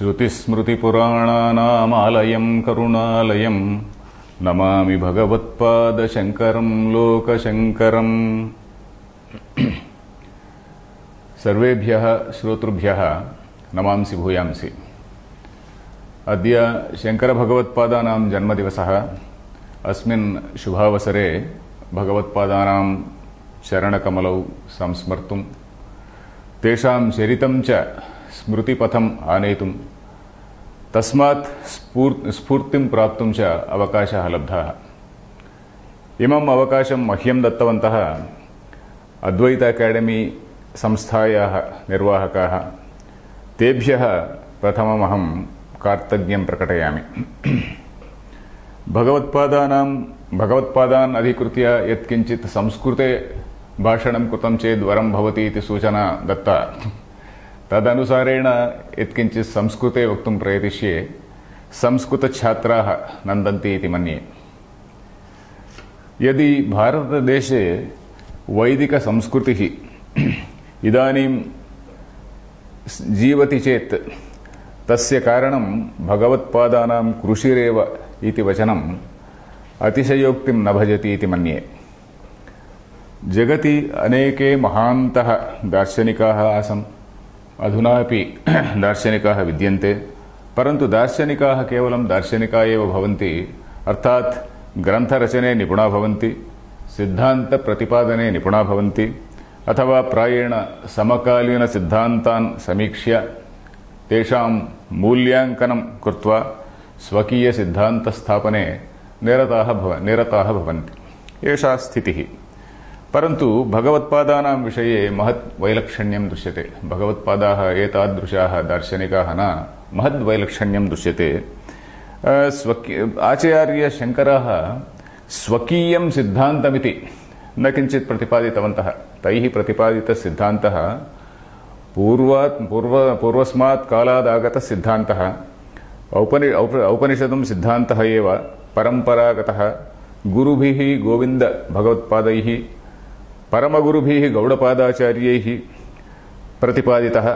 श्रुतिस्मृतिपुराणानामालयं करुणालयं नमामि भगवत्पादशङ्करं लोकशङ्करम्। सर्वेभ्यः श्रोतृभ्यः नमांसि भूयांसि। अद्य शङ्करभगवत्पादानां जन्मदिवसः। अस्मिन् शुभावसरे भगवत्पादानां चरणकमलौ संस्मर्तुं तेषां चरितं च स्मृतिपथम् आनेतुं तस्मात् स्फूर्तिं प्राप्तुं च अवकाशः लब्धः। इमम् अवकाशं मह्यं दत्तवन्तः अद्वैत अकाडेमी संस्थायाः निर्वाहकाः। तेभ्यः प्रथममहं कार्तज्ञं प्रकटयामि। भगवत्पादान् अधिकृत्य यत्किञ्चित् संस्कृते भाषणं कृतं चेत् वरं भवति इति सूचना दत्ता। तदनुसारेण यत्किञ्चित् संस्कृते वक्तुं प्रयतिष्ये। संस्कृतछात्राः नन्दन्ति इति मन्ये। यदि भारतदेशे वैदिकसंस्कृतिः इदानीं जीवति चेत् तस्य कारणं भगवत्पादानां कृषिरेव इति वचनम् अतिशयोक्तिं न भजति इति मन्ये। जगति अनेके महान्तः दार्शनिकाः आसन्। अधुनापि दार्शनिकाः विद्यन्ते, परन्तु दार्शनिकाः केवलं दार्शनिकाः एव भवन्ति, अर्थात् ग्रन्थरचने निपुणा भवन्ति, सिद्धान्तप्रतिपादने निपुणा भवन्ति, अथवा प्रायेण समकालीनसिद्धान्तान् समीक्ष्य तेषां मूल्याङ्कनं कृत्वा स्वकीयसिद्धान्तस्थापने निरताः भवन्ति। एषा स्थितिः। परन्तु भगवत्पादानां विषये महत् वैलक्षण्यं दृश्यते। भगवत्पादाः एतादृशाः दार्शनिकाः न, महद् वैलक्षण्यं दृश्यते। आचार्यशङ्करः स्वकीयं सिद्धान्तमिति न किञ्चित् प्रतिपादितवन्तः। तैः प्रतिपादितसिद्धान्तः पूर्वस्मात् कालादागतः सिद्धान्तः, औपनिषदं सिद्धान्तः एव परम्परागतः, गुरुभिः गोविन्द भगवत्पादैः परमगुरुभिः गौडपादाचार्यैः प्रतिपादितः।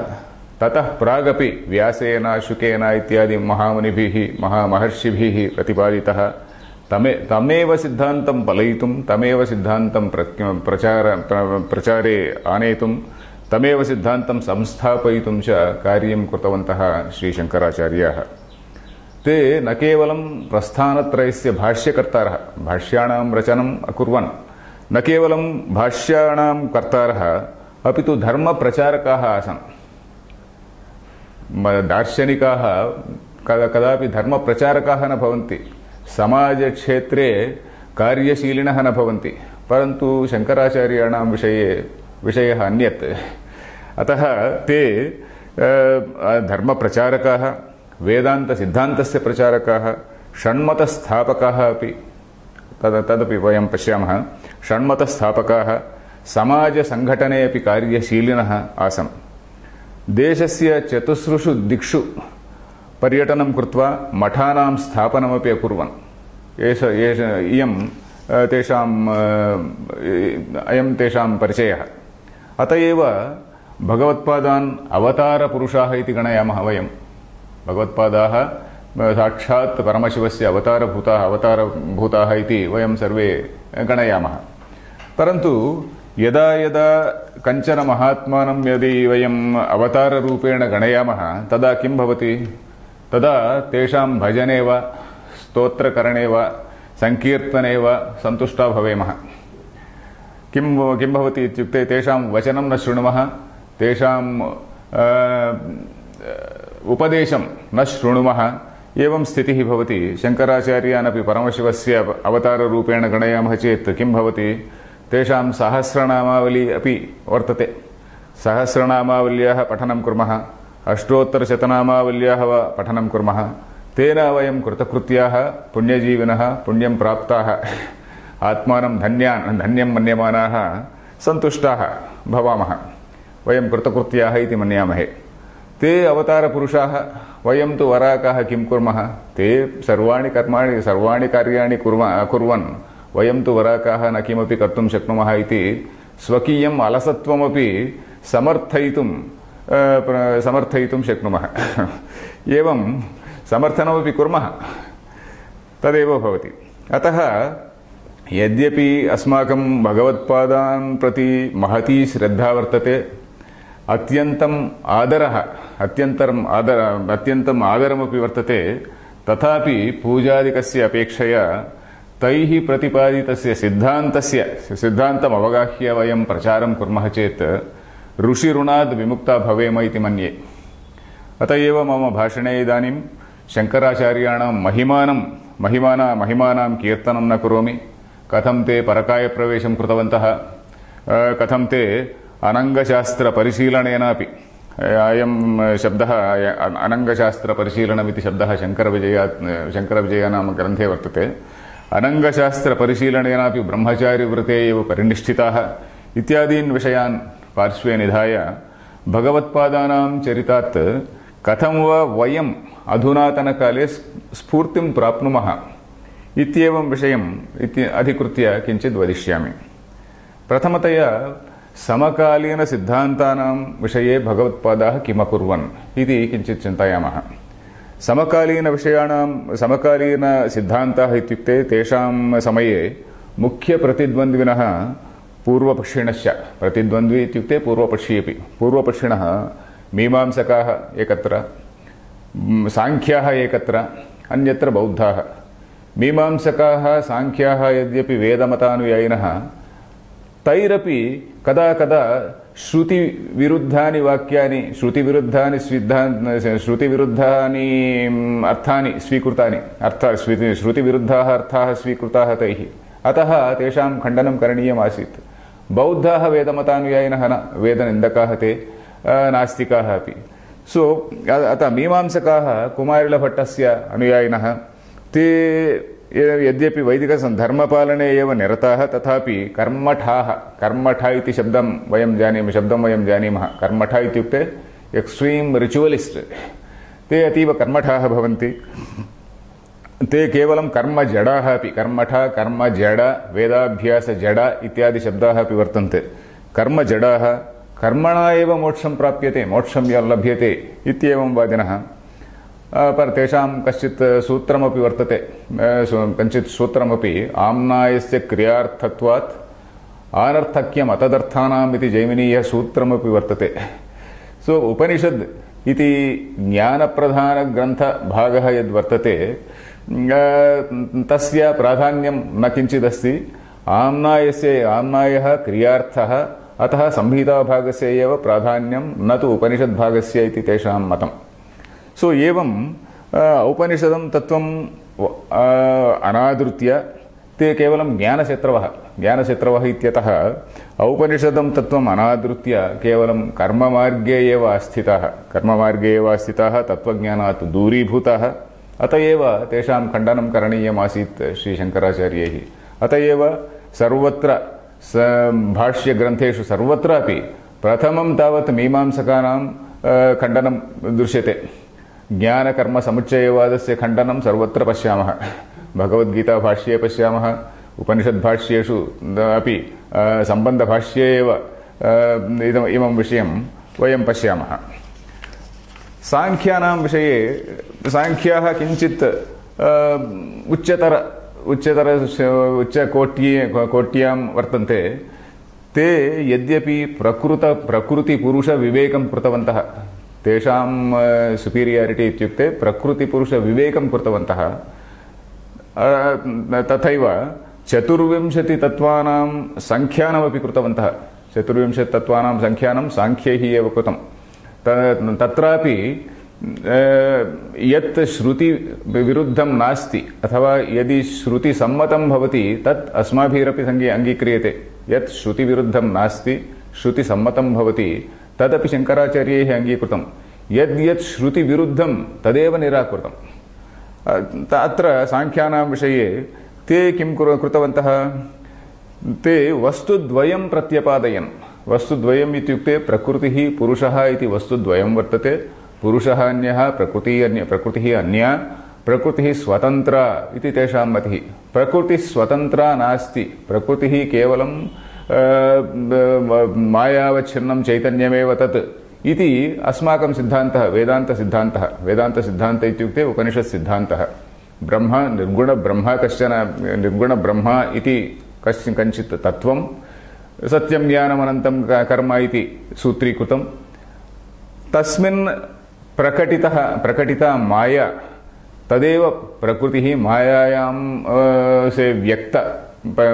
ततः प्रागपि व्यासेन शुकेन इत्यादि महामुनिभिः महामहर्षिभिः प्रतिपादितः। तमेव सिद्धान्तं फलयितुं, तमेव सिद्धान्तं प्रचारे आनेतुं, तमेव सिद्धान्तं संस्थापयितुं च कार्यं कृतवन्तः श्रीशङ्कराचार्याः। ते न केवलं प्रस्थानत्रयस्य भाष्यकर्तारः, भाष्याणां रचनम् अकुर्वन्, न केवलं भाष्याणां कर्तारः, अपि तु धर्मप्रचारकाः आसन्। दार्शनिकाः कदापि धर्मप्रचारकाः न भवन्ति, समाजक्षेत्रे कार्यशीलिनः न भवन्ति, परन्तु शङ्कराचार्याणां विषयः अन्यत्। अतः ते धर्मप्रचारकाः, वेदान्तसिद्धान्तस्य प्रचारकाः, षण्मतस्थापकाः अपि, तदपि वयं पश्यामः। षण्मतस्थापकाः, समाजसङ्घटने अपि कार्यशीलिनः आसन्। देशस्य चतुस्रुषु दिक्षु पर्यटनं कृत्वा मठानां स्थापनमपि अकुर्वन्। अयं तेषां परिचयः। अत एव भगवत्पादान् अवतारपुरुषाः इति गणयामः वयं। भगवत्पादाः साक्षात् परमशिवस्य अवतारभूताः इति वयं सर्वे गणयामः। परन्तु यदा यदा कञ्चन महात्मानं यदि वयम् अवताररूपेण गणयामः तदा किं भवति? तदा तेषां भजने वा स्तोत्रकरणे वा सङ्कीर्तने वा सन्तुष्टा भवेमः। किं भवति इत्युक्ते तेषां वचनं न शृणुमः, तेषां उपदेशं न शृणुमः। एवं स्थितिः भवति। शङ्कराचार्यानपि परमशिवस्य अवताररूपेण गणयामः चेत् किं भवति? तेषां सहस्रनामावली अपि वर्तते। सहस्रनामावल्याः पठनं कुर्मः, अष्टोत्तरशतनामावल्याः वा पठनं कुर्मः। तेन वयं कृतकृत्याः, पुण्यजीविनः, पुण्यं प्राप्ताः, आत्मानं धन्यं मन्यमानाः, सन्तुष्टाः भवामः। वयं कृतकृत्याः इति मन्यामहे। ते अवतारपुरुषाः, वयं तु वराकाः किं कुर्मः? ते सर्वाणि कार्याणि कुर्वन् वयं तु वराकाः न किमपि कर्तुं शक्नुमः इति स्वकीयम् अलसत्वमपि समर्थयितुं शक्नुमः। एवं समर्थनमपि कुर्मः तदेव भवति। अतः यद्यपि अस्माकं भगवत्पादान् प्रति महती श्रद्धा वर्तते, अत्यन्तम् आदरमपि वर्तते, तथापि पूजादिकस्य अपेक्षया तैः प्रतिपादितस्य सिद्धान्तम् अवगाह्य वयं प्रचारं कुर्मः चेत् ऋषिऋणाद् विमुक्ता भवेम इति मन्ये। अत एव मम भाषणे इदानीं शङ्कराचार्याणां महिमानां कीर्तनं न करोमि। कथं ते परकायप्रवेशं कृतवन्तः, कथं ते अनङ्गशास्त्रपरिशीलनेनापि, अयं शब्दः अनङ्गशास्त्रपरिशीलनमिति शब्दः शङ्करविजय नाम ग्रन्थे वर्तते। अनङ्गशास्त्रपरिशीलनेनापि ब्रह्मचारिव्रते एव परिनिष्ठिताः इत्यादीन् विषयान् पार्श्वे निधाय भगवत्पादानां चरितात् कथं वा वयम् अधुनातनकाले स्फूर्तिं प्राप्नुमः इत्येवं विषयम् अधिकृत्य किञ्चित् वदिष्यामि। प्रथमतया समकालीनसिद्धान्तानां विषये भगवत्पादाः किमकुर्वन् इति किञ्चित् चिन्तयामः। समकालीनसिद्धान्ताः इत्युक्ते तेषां समये मुख्यप्रतिद्वन्द्विनः पूर्वपक्षिणश्च, प्रतिद्वन्द्वी इत्युक्ते पूर्वपक्षी अपि, पूर्वपक्षिणः मीमांसकाः एकत्र, साङ्ख्याः एकत्र, अन्यत्र बौद्धाः। मीमांसकाः साङ्ख्याः यद्यपि वेदमतानुयायिनः, तैरपि कदा कदा श्रुतिविरुद्धानि वाक्यानि, श्रुतिविरुद्धानि अर्थानि स्वीकृतानि, श्रुतिविरुद्धाः अर्थाः स्वीकृताः तैः, अतः तेषां खण्डनं करणीयमासीत्। बौद्धाः वेदमतानुयायिनः न, वेदनिन्दकाः ते, नास्तिकाः अपि। अतः मीमांसकाः कुमारिलभट्टस्य अनुयायिनः, ते यद्यपि वैदिकधर्मपालने एव निरताः, तथापि कर्मठा इति शब्दं वयं जानीमः। कर्मठा इत्युक्ते एक्स्ट्रीम् रिचुवलिस्ट्, ते अतीव कर्मठाः भवन्ति। ते केवलं कर्मजडाः अपि, कर्मठा, कर्मजड, वेदाभ्यासजड इत्यादि शब्दाः अपि वर्तन्ते। कर्मजडाः, कर्मणा एव मोक्षं प्राप्यते, मोक्षं लभ्यते इत्येवं वादिनः। पर तेषां कश्चित् सूत्रमपि वर्तते, कञ्चित् सूत्रमपि, आम्नायस्य क्रियार्थत्वात् आनर्थक्यम् अतदर्थानाम् इति जैमिनीयः सूत्रमपि वर्तते। उपनिषद् इति ज्ञानप्रधानग्रन्थभागः यद्वर्तते, तस्य प्राधान्यं न किञ्चिदस्ति। आम्नायः क्रियार्थः, अतः संहिताभागस्य एव प्राधान्यं, न तु उपनिषद्भागस्य इति तेषां मतम्। एवं औपनिषदं तत्त्वम् अनादृत्य ते केवलं ज्ञानशत्रवः इत्यतः औपनिषदं तत्त्वम् अनादृत्य केवलं कर्ममार्गे एव स्थिताः, तत्त्वज्ञानात् दूरीभूताः। अत एव तेषां खण्डनं करणीयमासीत् श्रीशङ्कराचार्यैः। अत एव सर्वत्र भाष्यग्रन्थेषु सर्वत्रापि प्रथमं तावत् मीमांसकानां खण्डनं दृश्यते। ज्ञानकर्मसमुच्चयवादस्य खण्डनं सर्वत्र पश्यामः, भगवद्गीताभाष्ये पश्यामः, उपनिषद्भाष्येषु अपि सम्बन्धभाष्ये एव इमं विषयं वयं पश्यामः। साङ्ख्यानां विषये, साङ्ख्याः किञ्चित् उच्चकोट्यां वर्तन्ते। ते यद्यपि प्रकृतिपुरुषविवेकं कृतवन्तः, तेषां सुपीरियारिटी इत्युक्ते प्रकृतिपुरुषविवेकं कृतवन्तः, तथैव 24 तत्त्वानां सङ्ख्यानमपि कृतवन्तः। 24 तत्त्वानां सङ्ख्यानं साङ्ख्यैः एव कृतं। तत्रापि यत् श्रुतिविरुद्धं नास्ति, अथवा यदि श्रुतिसम्मतं भवति तत् अस्माभिरपि अङ्गीक्रियते। यत् श्रुतिविरुद्धं नास्ति, श्रुतिसम्मतं भवति, तदपि शङ्कराचार्यैः अङ्गीकृतं। यद्यत् श्रुतिविरुद्धं तदेव निराकृतम्। अत्र साङ्ख्यानां विषये ते किं कृतवन्तः? ते वस्तुद्वयं प्रत्यपादयन्। वस्तुद्वयम् इत्युक्ते प्रकृतिः पुरुषः इति वस्तुद्वयं वर्तते। पुरुषः अन्यः, प्रकृतिः अन्या। प्रकृतिः स्वतन्त्रा इति तेषां मतिः। प्रकृतिः स्वतन्त्रा नास्ति, प्रकृतिः केवलं मायावच्छिन्नं चैतन्यमेव तत् इति अस्माकं सिद्धान्तः वेदान्तसिद्धान्तः। वेदान्तसिद्धान्तः इत्युक्ते उपनिषत्सिद्धान्तः। ब्रह्म निर्गुणब्रह्म कश्चन निर्गुणब्रह्म इति कञ्चित् तत्त्वं, सत्यं ज्ञानमनन्तं कर्म इति सूत्रीकृतं। तस्मिन् प्रकटिता माया, तदेव प्रकृतिः, मायायां से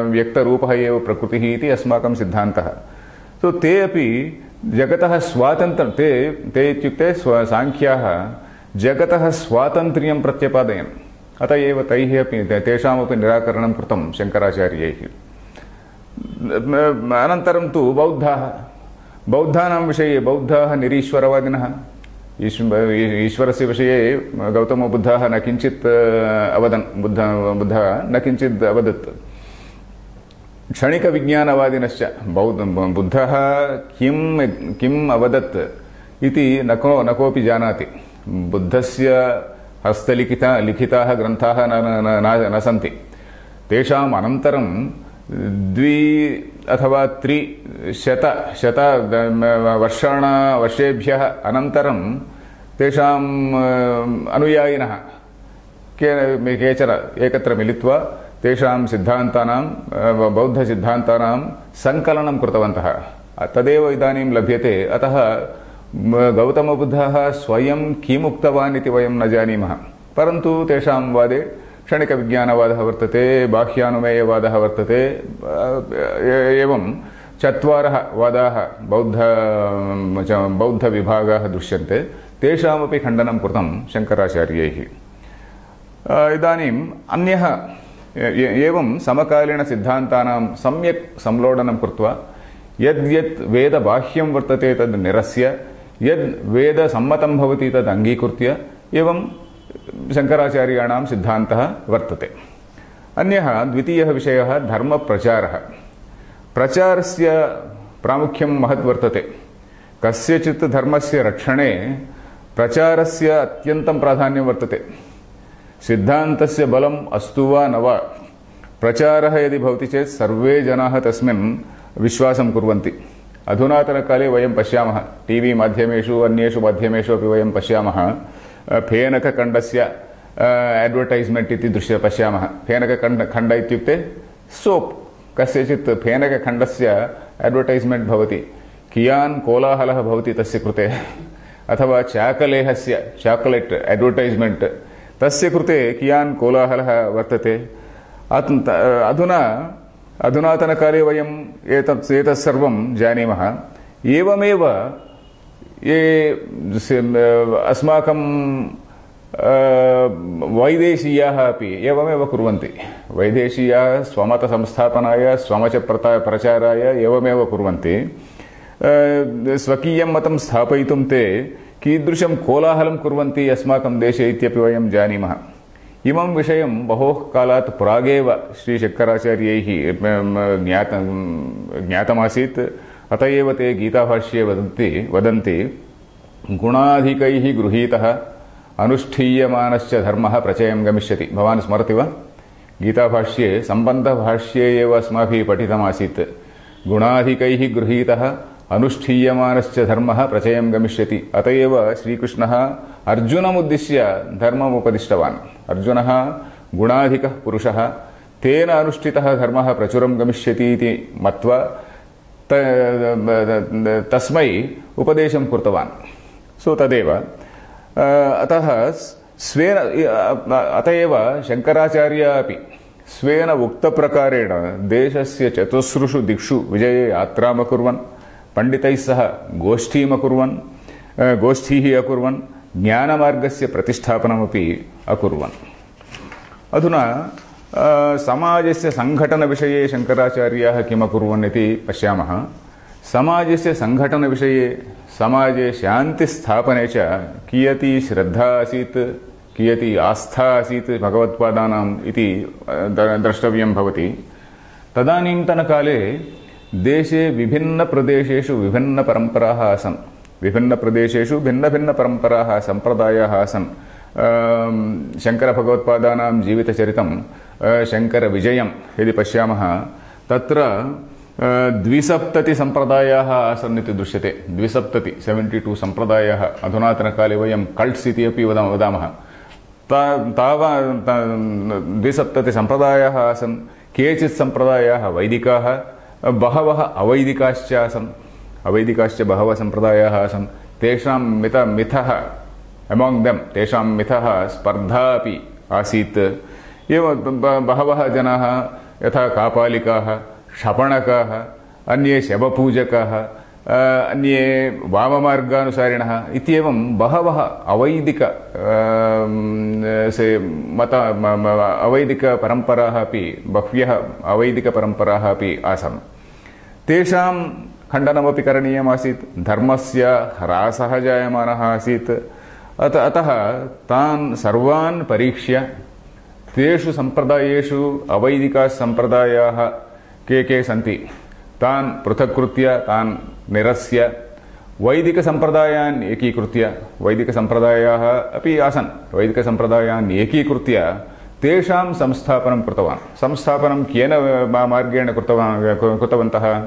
व्यक्तरूपः एव प्रकृतिः इति अस्माकं सिद्धान्तः। तो ते अपि जगतः स्वातन्त्र्यं, ते इत्युक्ते साङ्ख्याः जगतः स्वातन्त्र्यं प्रत्यपादयन्। अत एव तैः अपि तेषामपि निराकरणं कृतं शङ्कराचार्यैः। अनन्तरं तु बौद्धानां विषये बौद्धाः निरीश्वरवादिनः। ईश्वरस्य विषये गौतमबुद्धः न किञ्चित् अवदन्, बुद्धः न किञ्चित् अवदत्। क्षणिकविज्ञानवादिनश्च बुद्धः किम् अवदत् इति न कोऽपि जानाति। बुद्धस्य हस्तलिखिताः ग्रन्थाः न सन्ति। तेषाम् अनन्तरं 2 अथवा 300 वर्षेभ्यः अनन्तरं तेषाम् अनुयायिनः केचन एकत्र मिलित्वा तेषां सिद्धान्तानां, बौद्धसिद्धान्तानां सङ्कलनं कृतवन्तः। तदेव इदानीं लभ्यते। अतः गौतमबुद्धः स्वयं किमुक्तवान् इति वयं न जानीमः, परन्तु तेषां वादे क्षणिकविज्ञानवादः वर्तते, बाह्यानुमेयवादः वर्तते। एवं 4 वादाः बौद्धविभागाः दृश्यन्ते। तेषामपि खण्डनं कृतं शङ्कराचार्यैः। इदानीम् अन्यः एवं समकालीनसिद्धान्तानां सम्यक् संलोडनं कृत्वा यद्यत् वेदबाह्यं वर्तते तद् निरस्य, यद् वेदसम्मतं भवति तद् अङ्गीकृत्य एवं शङ्कराचार्याणां सिद्धान्तः वर्तते। अन्यः द्वितीयः विषयः धर्मप्रचारः। प्रचारस्य प्रामुख्यं महत् वर्तते। कस्यचित् धर्मस्य रक्षणे प्रचारस्य अत्यन्तं प्राधान्यं वर्तते। सिद्धान्तस्य बलम् अस्तु वा न वा, प्रचारः यदि भवति चेत् सर्वे जनाः तस्मिन् विश्वासं कुर्वन्ति। अधुनातनकाले वयं पश्यामः, टीवी माध्यमेषु अन्येषु माध्यमेषु अपि वयं पश्यामः, फेनकखण्डस्य एड्वर्टैस्मेण्ट् इति पश्यामः। फेनकखण्ड इत्युक्ते सोप्, कस्यचित् फेनकखण्डस्य एड्वर्टैस्मेण्ट् भवति, कियान् कोलाहलः भवति तस्य कृते। अथवा चाकलेहस्य चाकलेट् एड्वर्टैस्मेण्ट्, तस्य कृते कियान् कोलाहलः वर्तते। अधुनातनकाले वयं एतत् सर्वं जानीमः। एवमेव ये अस्माकं वैदेशीयाः अपि एवमेव कुर्वन्ति। वैदेशीयाः स्वमतसंस्थापनाय, स्वमतप्रचाराय एवमेव कुर्वन्ति। स्वकीयं मतं स्थापयितुं ते कीदृशं कोलाहलं कुर्वन्ति अस्माकं देशे इत्यपि वयं जानीमः। इमं विषयं बहोः कालात् प्रागेव श्रीशङ्कराचार्यैः ज्ञातमासीत्। अत एव ते गीताभाष्ये वदन्ति गुणाधिकैः गृहीतः अनुष्ठीयमानश्च धर्मः प्रचयं गमिष्यति। भवान् स्मरति वा? गीताभाष्ये सम्बन्धभाष्ये एव अस्माभिः पठितमासीत्। गुणाधिकैः गृहीतः अनुष्ठीयमानश्च धर्मः प्रचयं गमिष्यति। अत एव श्रीकृष्णः अर्जुनमुद्दिश्य धर्मम् उपदिष्टवान्। अर्जुनः गुणाधिकः पुरुषः, तेन अनुष्ठितः धर्मः प्रचुरं गमिष्यति इति मत्वा तस्मै उपदेशं कृतवान्। सो तदेव अत एव शङ्कराचार्यः अपि स्वेन उक्तप्रकारेण देशस्य 4 दिक्षु विजये यात्राम् अकुर्वन्, पण्डितैः सह गोष्ठीः अकुर्वन्, ज्ञानमार्गस्य प्रतिष्ठापनमपि अकुर्वन्। अधुना समाजस्य सङ्घटनविषये शङ्कराचार्याः किम् अकुर्वन् इति पश्यामः। समाजस्य सङ्घटनविषये, समाजे शान्तिस्थापने च कियती श्रद्धा आसीत्, कियती आस्था आसीत् भगवत्पादानाम् इति द्रष्टव्यं भवति। तदानीन्तनकाले देशे विभिन्नप्रदेशेषु विभिन्नपरम्पराः आसन्। विभिन्नप्रदेशेषु भिन्नभिन्नपरम्पराः, सम्प्रदायाः आसन्। शङ्करभगवत्पादानां जीवितचरितं, शङ्करविजयं यदि पश्यामः, तत्र द्विसप्ततिसम्प्रदायाः आसन् इति दृश्यते। 72 सम्प्रदायाः अधुनातनकाले वयं कल्ट्स् इति अपि वदामः। 72 सम्प्रदायाः आसन्। केचित् सम्प्रदायाः वैदिकाः, बहवः अवैदिकाश्च आसन्। अवैदिकाश्च बहवः सम्प्रदायाः आसन्। तेषां मिथः अमाङ्ग् देम्, तेषां मिथः स्पर्धा अपि आसीत्। एवं बहवः जनाः यथा कापालिकाः, क्षपणकाः, अन्ये शवपूजकाः, अन्ये वाममार्गानुसारिणः इत्येवं बहवः अवैदिकपरम्पराः अपि, बह्व्यः अवैदिकपरम्पराः अपि आसन्। तेषां खण्डनमपि करणीयमासीत्। धर्मस्य ह्रासः जायमानः आसीत्। अतः तान् सर्वान् परीक्ष्य तेषु सम्प्रदायेषु अवैदिकाः सम्प्रदायाः के सन्ति तान् पृथक्कृत्य, तान् निरस्य वैदिकसम्प्रदायान् एकीकृत्य, वैदिकसम्प्रदायाः अपि आसन्, वैदिकसम्प्रदायान् एकीकृत्य तेषां संस्थापनं कृतवान्। संस्थापनं केन मार्गेण कृतवन्तः?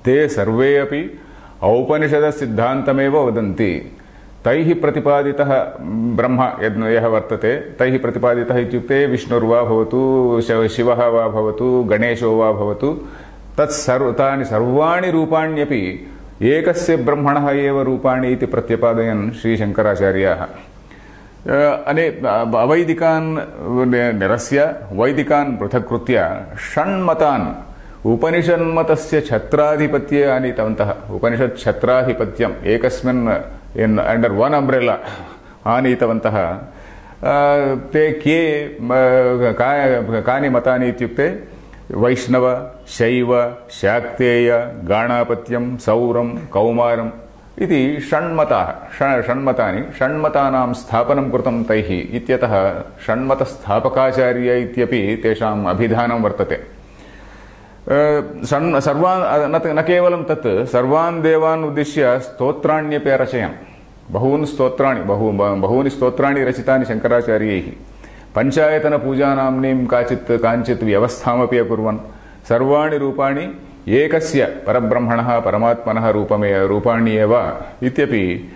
ते सर्वे अपि औपनिषदसिद्धान्तमेव वदन्ति। तैः प्रतिपादितः ब्रह्म यः वर्तते, तैः प्रतिपादितः इत्युक्ते विष्णुर्वा भवतु, शिवः वा भवतु, गणेशो वा भवतु, तानि सर्वाणि रूपाण्यपि एकस्य ब्रह्मणः एव रूपाणि इति प्रत्यपादयन् श्रीशङ्कराचार्याः अवैदिकान् निरस्य वैदिकान् पृथक्कृत्य षण्मतान् उपनिषन्मतस्य छत्राधिपत्ये आनीतवन्तः। उपनिषच्छत्राधिपत्यम् एकस्मिन् अंडर वन अम्ब्रेला आनीतवन्तः। ते के कानि मतानि इत्युक्ते वैष्णव, शैव, शाक्तेय, गाणापत्यं, सौरं, कौमारम् इति षण्मतानि, षण्मतानां स्थापनं कृतं तैः इत्यतः षण्मतस्थापकाचार्य इत्यपि तेषाम् अभिधानं वर्तते। न केवलं तत्, सर्वान् देवान् उद्दिश्य स्तोत्राण्यपि अरचयन्। बहूनि स्तोत्राणि रचितानि शङ्कराचार्यैः। पञ्चायतनपूजानाम्नीं काञ्चित् व्यवस्थामपि अकुर्वन्। सर्वाणि रूपाणि एकस्य परब्रह्मणः परमात्मनः रूपाणि एव इत्यपि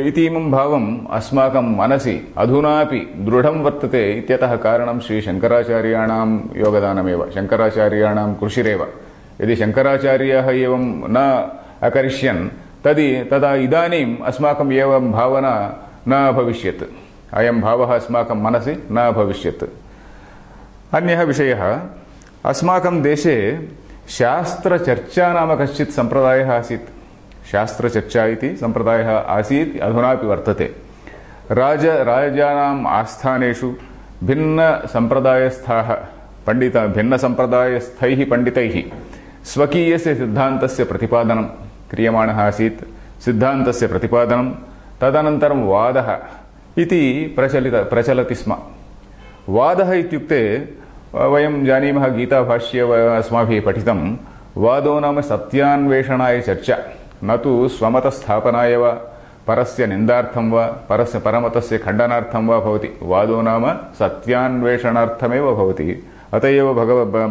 इतीमं भावम् अस्माकं मनसि अधुनापि दृढं वर्तते इत्यतः कारणं श्रीशङ्कराचार्याणां योगदानमेव, शङ्कराचार्याणां कृषिरेव। यदि शङ्कराचार्याः एवं न अकरिष्यन् तदा इदानीम् अस्माकम् एवं भावना न भविष्यत्, अयं भावः अस्माकं मनसि न भविष्यत्। अन्यः विषयः, अस्माकं देशे शास्त्रचर्चा नाम कश्चित् सम्प्रदायः आसीत्। शास्त्रचर्चा इति सम्प्रदायः आसीत्, अधुनापि वर्तते। राजानाम् आस्थानेषु भिन्नसम्प्रदायस्थैः पण्डितैः स्वकीयस्य सिद्धान्तस्य प्रतिपादनं क्रियमाणः आसीत्। सिद्धान्तस्य प्रतिपादनं, तदनन्तरं वादः इति प्रचलति स्म। वादः इत्युक्ते वयं जानीमः, गीताभाष्ये अस्माभिः पठितं, वादो नाम सत्यान्वेषणाय चर्चा, न तु स्वमतस्थापनाय वा परस्य निन्दार्थं वा परस्य परमतस्य खण्डनार्थं वा भवति। वादो नाम सत्यान्वेषणार्थमेव भवति। अत एव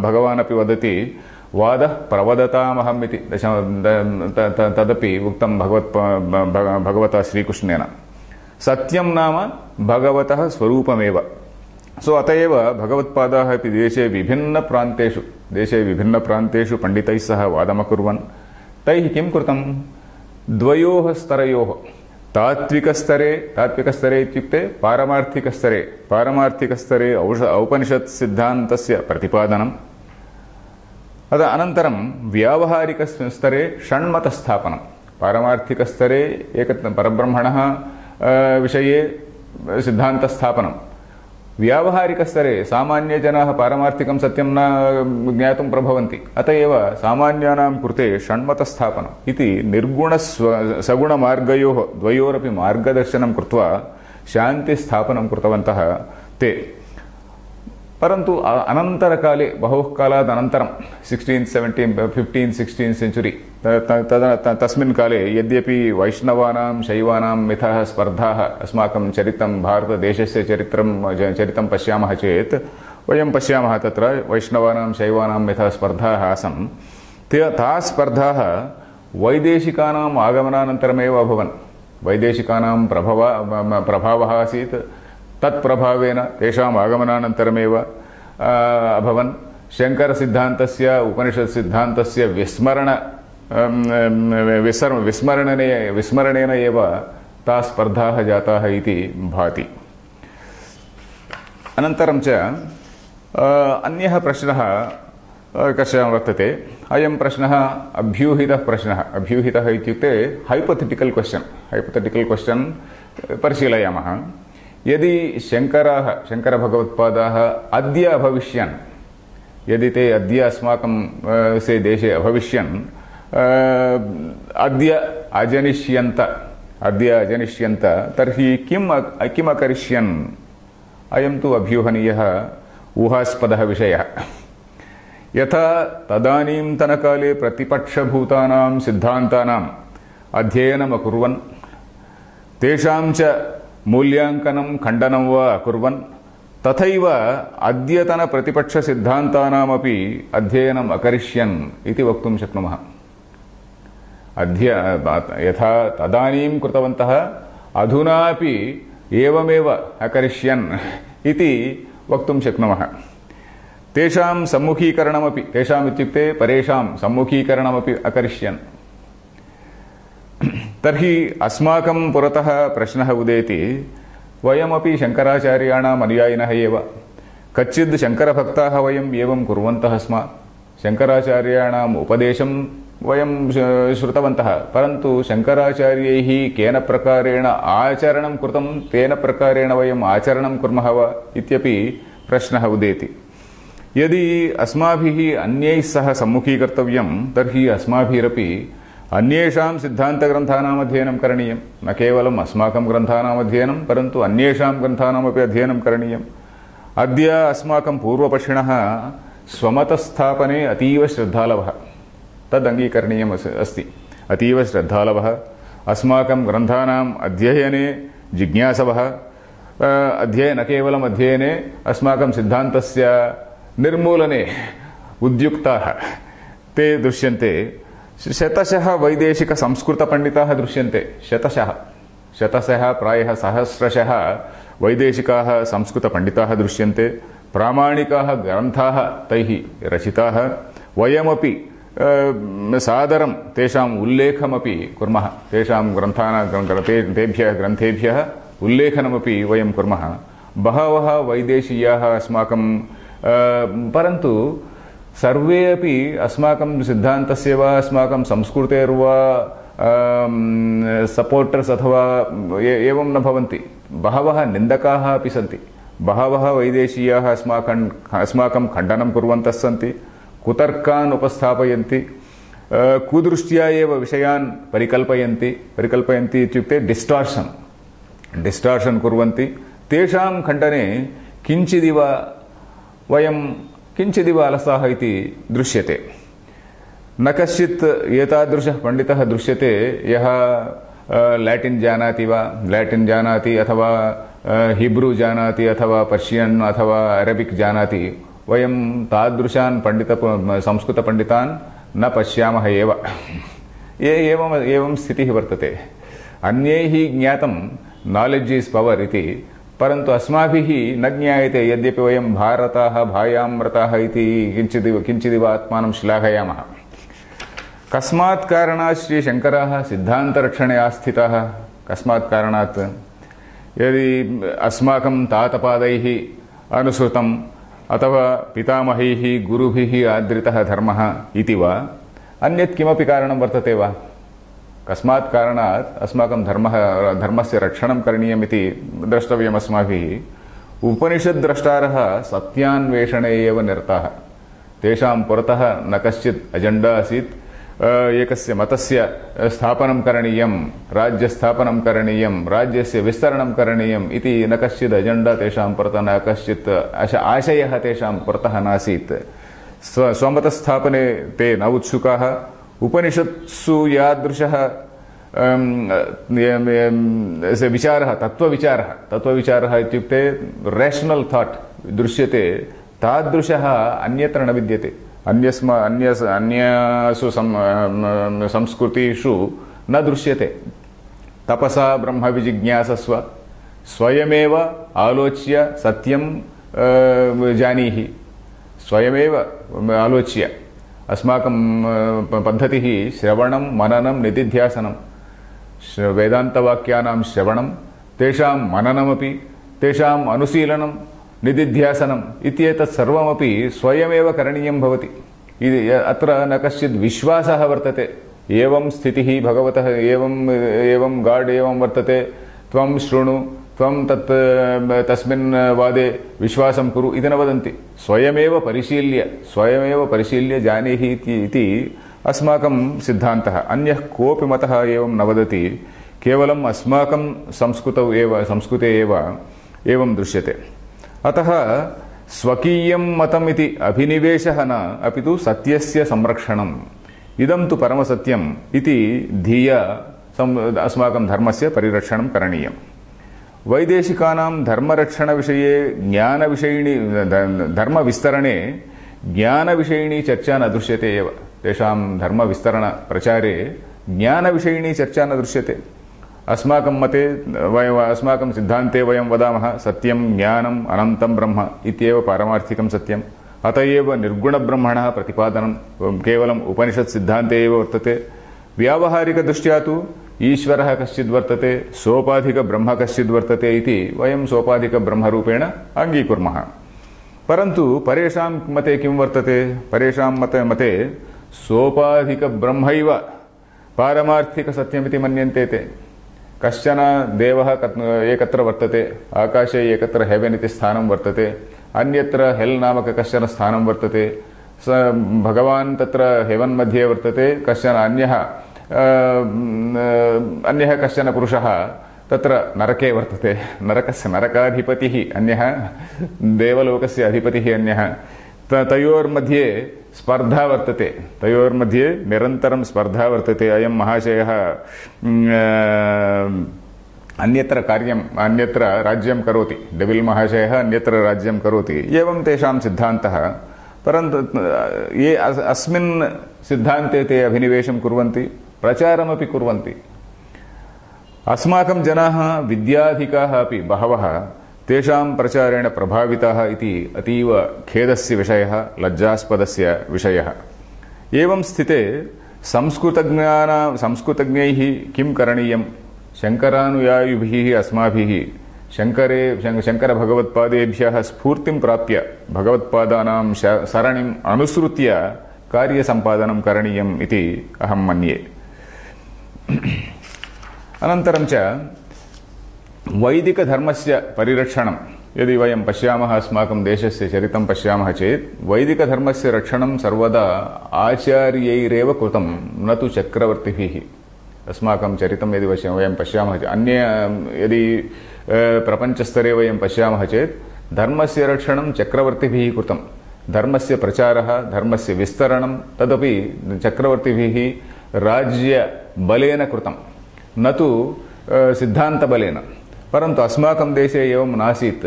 भगवान् अपि वदति, वादः प्रवदतामहम् इति तदपि उक्तं भगवता श्रीकृष्णेन। सत्यं नाम भगवतः स्वरूपमेव। अत एव भगवत्पादाः अपि देशे विभिन्नप्रान्तेषु पण्डितैः सह वादमकुर्वन्। तैः किं कृतं? द्वयोः स्तरयोः, तात्विकस्तरे इत्युक्ते पारमार्थिकस्तरे औपनिषत् सिद्धान्तस्य प्रतिपादनं, अनन्तरं व्यावहारिकस्तरे षण्मतस्थापनं। पारमार्थिकस्तरे परब्रह्मणः विषये सिद्धान्तस्थापनं, व्यावहारिकस्तरे सामान्यजनाः पारमार्थिकं सत्यं न ज्ञातुं प्रभवन्ति। अत एव सामान्यानां कृते षण्मतस्थापनम् इति निर्गुणसगुणमार्गयोः द्वयोरपि मार्गदर्शनं कृत्वा शान्तिस्थापनं कृतवन्तः ते। परन्तु अनन्तरकाले, बहुः कालात् अनन्तरं 15th-16th सेञ्चुरी, तस्मिन् काले यद्यपि वैष्णवानां शैवानां मिथः स्पर्धाः अस्माकं चरितं, भारतदेशस्य चरितं पश्यामः चेत् वयं पश्यामः, तत्र वैष्णवानां शैवानां मिथः स्पर्धाः आसन्। ताः स्पर्धाः वैदेशिकानाम् आगमनानन्तरमेव अभवन्। वैदेशिकानां प्रभावः आसीत्, तत्प्रभावेन तेषाम् आगमनानन्तरमेव अभवन्। शङ्करसिद्धान्तस्य उपनिषत्सिद्धान्तस्य विस्मरणेन एव ताः स्पर्धाः जाताः इति भाति। अनन्तरं च अन्यः प्रश्नः कश्चन वर्तते। अयं प्रश्नः अभ्यूहितः प्रश्नः। अभ्यूहितः इत्युक्ते हैपोथेटिकल् क्वश्चन् परिशीलयामः। यदि शङ्करभगवत्पादाः अद्य अभविष्यन्, यदि ते अद्य अस्माकं देशे अभविष्यन्, अद्य अजनिष्यन्त, तर्हि किम् अकरिष्यन्? अयं तु अभ्यूहनीयः ऊहास्पदः विषयः। यथा तदानीन्तनकाले प्रतिपक्षभूतानां सिद्धान्तानाम् अध्ययनम् अकुर्वन्, तेषां च मूल्याङ्कनं खण्डनं वा अकुर्वन्, तथैव अद्यतनप्रतिपक्षसिद्धान्तानामपि अध्ययनम् अकरिष्यन् इति वक्तुं शक्नुमः। यथा तदानीं कृतवन्तः अधुनापि एवमेव अकरिष्यन् इति वक्तुं शक्नुमः। तेषां सम्मुखीकरणमपि, तेषाम् इत्युक्ते परेषां सम्मुखीकरणमपि अकरिष्यन्। तर्हि अस्माकं पुरतः प्रश्नः उदेति, वयमपि शङ्कराचार्याणाम् अनुयायिनः एव, कच्चिद् शङ्करभक्ताः वयम् एवं कुर्वन्तः स्म, शङ्कराचार्याणाम् उपदेशं वयं श्रुतवन्तः, परन्तु शङ्कराचार्यैः केन प्रकारेण आचरणं कृतं तेन प्रकारेण वयम् आचरणं कुर्मः वा इत्यपि प्रश्नः उदेति। यदि अस्माभिः अन्यैः सह सम्मुखीकर्तव्यं, तर्हि अस्माभिरपि अन्येषां सिद्धान्तग्रन्थानाम् अध्ययनं करणीयं। न केवलम् अस्माकं ग्रन्थानाम् अध्ययनं, परन्तु अन्येषां ग्रन्थानामपि अध्ययनं करणीयम्। अद्य अस्माकं पूर्वपक्षिणः स्वमतस्थापने अतीव श्रद्धालवः, तद् अङ्गीकरणीयम् अस्ति। अतीव श्रद्धालवः, अस्माकं ग्रन्थानाम् अध्ययने जिज्ञासवः, न केवलम् अध्ययने, अस्माकं सिद्धान्तस्य निर्मूलने उद्युक्ताः ते दृश्यन्ते। शतशः वैदेशिकसंस्कृतपण्डिताः दृश्यन्ते। शतशः प्रायः सहस्रशः वैदेशिकाः संस्कृतपण्डिताः दृश्यन्ते। प्रामाणिकाः ग्रन्थाः तैः रचिताः। वयमपि सादरं तेषाम् उल्लेखमपि कुर्मः। तेषां ग्रन्थेभ्यः उल्लेखनमपि वयं कुर्मः। बहवः वैदेशीयाः अस्माकं, परन्तु सर्वे अपि अस्माकं सिद्धान्तस्य वा अस्माकं संस्कृतेर्वा सपोर्टर्स् अथवा एवं न भवन्ति। बहवः निन्दकाः अपि सन्ति। बहवः वैदेशीयाः अस्माकं खण्डनं कुर्वन्तः सन्ति, कुतर्कान् उपस्थापयन्ति, कुदृष्ट्या एव विषयान् परिकल्पयन्ति इत्युक्ते डिस्टार्शन् कुर्वन्ति। तेषां खण्डने किञ्चिदिव अलसाः इति दृश्यते। न कश्चित् एतादृशः पण्डितः दृश्यते यः लैटिन् जानाति अथवा हिब्रू जानाति अथवा पर्शियन् अथवा अरबिक् जानाति। वयं तादृशान् संस्कृतपण्डितान् न पश्यामः एव। एवं स्थितिः वर्तते। अन्यैः ज्ञातं नालेड्ज् इस् पवर् इति, परन्तु अस्माभिः न ज्ञायते। यद्यपि वयं भारताः भायामृताः इति किञ्चिदिव आत्मानं श्लाघयामः। कस्मात् कारणात् श्रीशङ्कराः सिद्धान्तरक्षणे आस्थिताः? कस्मात् कारणात्? यदि अस्माकं तातपादैः अनुसृतम् अथवा पितामहैः गुरुभिः आदृतः धर्मः इति वा, अन्यत् किमपि कारणं वर्तते वा? कस्मात् कारणात् अस्माकं धर्मस्य रक्षणं करणीयमिति द्रष्टव्यम् अस्माभिः। उपनिषद्द्रष्टारः सत्यान्वेषणे एव निरताः। तेषां पुरतः न कश्चित् अजेण्डा आसीत् एकस्य मतस्य स्थापनं करणीयं, राज्यस्थापनं करणीयं, राज्यस्य विस्तरणं करणीयम् इति न कश्चित् अजेण्डा तेषां पुरतः, न कश्चित् आशयः तेषां पुरतः नासीत्। स्वमतस्थापने ते न उत्सुकाः। उपनिषत्सु यादृशः विचारः, तत्त्वविचारः इत्युक्ते रेशनल् थाट् दृश्यते, तादृशः अन्यत्र न विद्यते। अन्यासु संस्कृतिषु न दृश्यते। तपसा ब्रह्म विजिज्ञासस्व, स्वयमेव आलोच्य सत्यं जानीहि, स्वयमेव आलोच्य। अस्माकं पद्धतिः श्रवणं मननं निदिध्यासनं, वेदान्तवाक्यानां श्रवणं, तेषां मननमपि, तेषाम् अनुशीलनं, निदिध्यासनम् इत्येतत् सर्वमपि स्वयमेव करणीयं भवति। अत्र न कश्चित् विश्वासः वर्तते, एवं स्थितिः भगवतः, एवं गाड् एवं वर्तते, त्वं शृणु, त्वं तस्मिन् वादे विश्वासं कुरु इति न वदन्ति। स्वयमेव परिशील्य जानीहि इति अस्माकं सिद्धान्तः। अन्यः कोऽपि मतः एवं न वदति, केवलम् अस्माकं संस्कृते एव एवं दृश्यते। अतः स्वकीयं मतम् इति अभिनिवेशः न, अपि तु सत्यस्य संरक्षणम्, इदं तु परमसत्यम् इति धिया अस्माकं धर्मस्य परिरक्षणं करणीयम्। वैदेशिकानां धर्मरक्षणविषये धर्मविस्तरणे ज्ञानविषयिणी चर्चा न दृश्यते एव। तेषां धर्मविस्तरणप्रचारे ज्ञानविषयिणी चर्चा न दृश्यते। अस्माकं मते अस्माकं सिद्धान्ते वयं वदामः सत्यं ज्ञानम् अनन्तं ब्रह्म इत्येव पारमार्थिकं सत्यम्। अत एव निर्गुणब्रह्मणः प्रतिपादनं केवलम् उपनिषत् सिद्धान्ते एव वर्तते। व्यावहारिकदृष्ट्या तु ईश्वरः कश्चिद् वर्तते, सोपाधिकब्रह्म कश्चिद् वर्तते इति वयं सोपाधिकब्रह्मरूपेण अङ्गीकुर्मः। परन्तु परेषां मते किं वर्तते? परेषां मते सोपाधिकब्रह्मैव पारमार्थिकसत्यमिति मन्यन्ते ते। कश्चन देवः एकत्र वर्तते, आकाशे एकत्र हेवेन् इति स्थानं वर्तते, अन्यत्र हेल् नामक कश्चन स्थानं वर्तते, स भगवान् तत्र हेवन् मध्ये वर्तते, कश्चन अन्यः कश्चन पुरुषः तत्र नरके वर्तते, नरकाधिपतिः अन्यः, देवलोकस्य अधिपतिः अन्यः। तयोर्मध्ये स्पर्धा वर्तते, तयोर्मध्ये निरन्तरं स्पर्धा वर्तते। अयं महाशयः अन्यत्र राज्यं करोति, डेविल् महाशयः अन्यत्र राज्यं करोति, एवं तेषां सिद्धान्तः। परन्तु ये अस्मिन् सिद्धान्ते ते अभिनिवेशं कुर्वन्ति, प्रचारमपि कुर्वन्ति। अस्माकं जनाः विद्याधिकाः अपि बहवः तेषां प्रचारेण प्रभाविताः इति अतीव खेदस्य विषयः, लज्जास्पदस्य विषयः। एवं स्थिते संस्कृतज्ञैः किं करणीयं? शङ्करानुयायिभिः अस्माभिः शङ्करभगवत्पादेभ्यः स्फूर्तिं प्राप्य भगवत्पादानां सरणिम् अनुसृत्य कार्यसम्पादनं करणीयम् इति अहं मन्ये। अनन्तरं च वैदिकधर्मस्य परिरक्षणं यदि वयं पश्यामः, अस्माकं देशस्य चरितं पश्यामः चेत् वैदिकधर्मस्य रक्षणं सर्वदा आचार्यैरेव कृतं, न तु चक्रवर्तिभिः। अस्माकं चरितं यदि वयं पश्यामः चेत्, यदि प्रपञ्चस्तरे वयं पश्यामः चेत् धर्मस्य रक्षणं चक्रवर्तिभिः कृतं। धर्मस्य प्रचारः, धर्मस्य विस्तरणं तदपि चक्रवर्तिभिः राज्यबलेन कृतं, न तु सिद्धान्तबलेन। परन्तु अस्माकं देशे एवं नासीत्।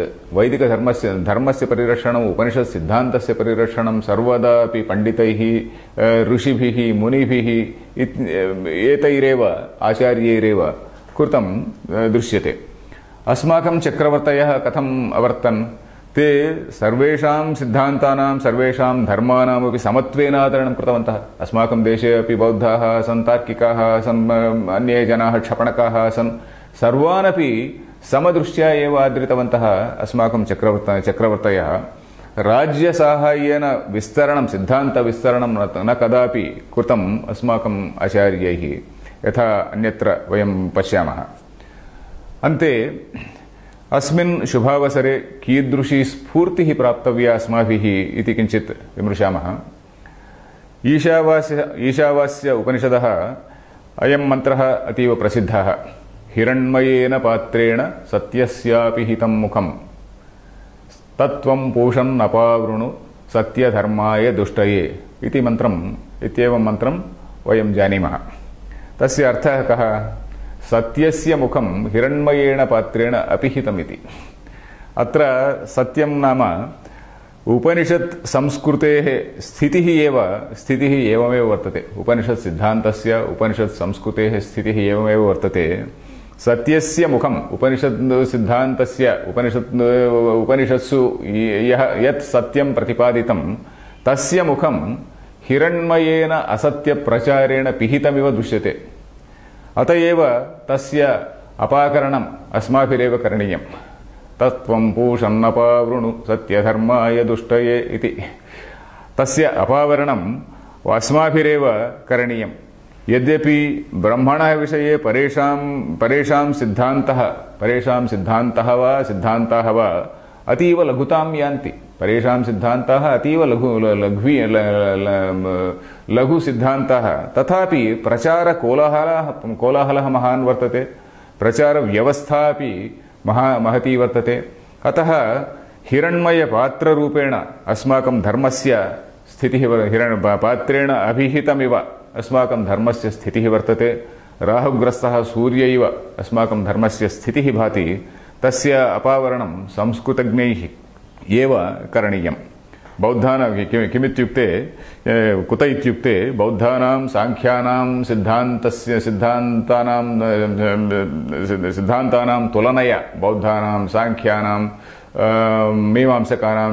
धर्मस्य परिरक्षणम्, उपनिषत् सिद्धान्तस्य परिरक्षणं सर्वदा अपि पण्डितैः, ऋषिभिः, मुनिभिः एतैरेव, आचार्यैरेव कृतं दृश्यते। अस्माकं चक्रवर्तयः कथम् अवर्तन्? ते सर्वेषां सिद्धान्तानां, सर्वेषां धर्माणामपि समत्वेन आदरणं कृतवन्तः। अस्माकं देशे अपि बौद्धाः आसन्, तार्किकाः आसन्, अन्ये जनाः क्षपणकाः आसन्, सर्वानपि समदृष्ट्या एव आदृतवन्तः अस्माकं चक्रवर्तयः। राज्यसाहाय्येन विस्तरणं, सिद्धान्तविस्तरणं न कदापि कृतम् अस्माकम् आचार्यैः, यथा अन्यत्र वयं पश्यामः। अन्ते अस्मिन् शुभावसरे कीदृशी स्फूर्तिः प्राप्तव्या अस्माभिः इति किञ्चित् विमृशामः। ईशावास्य उपनिषदः अयं मन्त्रः अतीव प्रसिद्धः। हिरण्मयेन पात्रेण सत्यस्यापि हितं मुखम् तत्त्वं पूषन् अपावृणु सत्यधर्माय दुष्टये इति इत्येवं मन्त्रं वयं जानीमः। तस्य अर्थः कः? सत्यस्य मुखं हिरण्मयेन पात्रेण अपिहितमिति। अत्र सत्यं नाम उपनिषत् संस्कृतेः स्थितिः एवमेव वर्तते। उपनिषत् सिद्धान्तस्य उपनिषत् संस्कृतेः स्थितिः एवमेव वर्तते। सत्यस्य मुखम् उपनिषत् सिद्धान्तस्य उपनिषत्सु यत् सत्यं प्रतिपादितं तस्य मुखं हिरण्मयेन असत्यप्रचारेण पिहितमिव दृश्यते। अत एव तस्य अपाकरणम् अस्माभिरेव करणीयम्। तत्त्वं पूषन्नपावृणु सत्यधर्माय दुष्टये इति तस्य अपावरणम् अस्माभिरेव करणीयम्। यद्यपि ब्रह्मणः विषये परेषां सिद्धान्तः वा अतीव लघुतां यान्ति। परेषां सिद्धान्ताः अतीव लघु सिद्धान्ताः, तथापि कोलाहलः महान् वर्तते, प्रचारव्यवस्था अपि महती वर्तते। अतः हिरण्मयपात्ररूपेण अस्माकं धर्मस्य स्थितिः पात्रेण अभिहितमिव अस्माकं धर्मस्य स्थितिः वर्तते। राहुग्रस्तः सूर्य इव अस्माकं धर्मस्य स्थितिः भाति। तस्य अपावरणं संस्कृतज्ञैः एव करणीयम्। बौद्धानां किमित्युक्ते कुत इत्युक्ते बौद्धानां साङ्ख्यानां सिद्धान्तानां तुलनया, बौद्धानां साङ्ख्यानां मीमांसकानां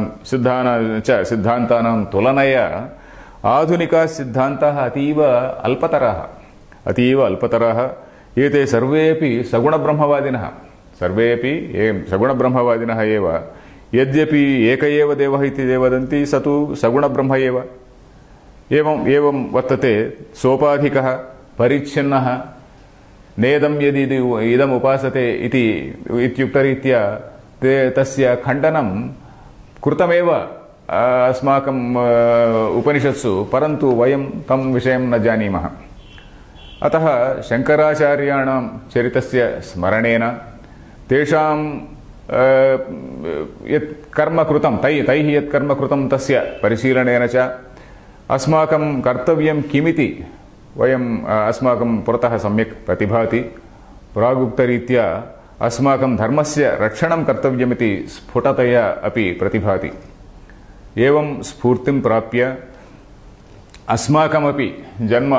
सिद्धान्तानां तुलनया आधुनिकाः सिद्धान्ताः अतीव अल्पतराः। एते सर्वेपि सगुणब्रह्मवादिनः एव। यद्यपि एक एव देवः इति वदन्ति, स तु सगुणब्रह्म एव। एवं वर्तते। सोपाधिकः परिच्छिन्नः नेदं यदि इदम् उपासते इत्युक्तरीत्या तस्य खण्डनं कृतमेव अस्माकम् उपनिषत्सु, परन्तु वयं तं विषयं न जानीमः। अतः शङ्कराचार्याणां चरितस्य स्मरणेन, तेषां यत् कर्म कृतं तैः यत् कर्म कृतं तस्य परिशीलनेन च अस्माकं कर्तव्यं किमिति अस्माकं पुरतः सम्यक् प्रतिभाति। प्रागुक्तरीत्या अस्माकं धर्मस्य रक्षणं कर्तव्यमिति स्फुटतया अपि प्रतिभाति। एवं स्फूर्तिं प्राप्य अस्माकमपि जन्म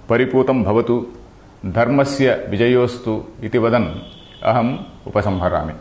परिपूतं भवतु, धर्मस्य विजयोस्तु इति वदन् अहम् उपसंहरामि।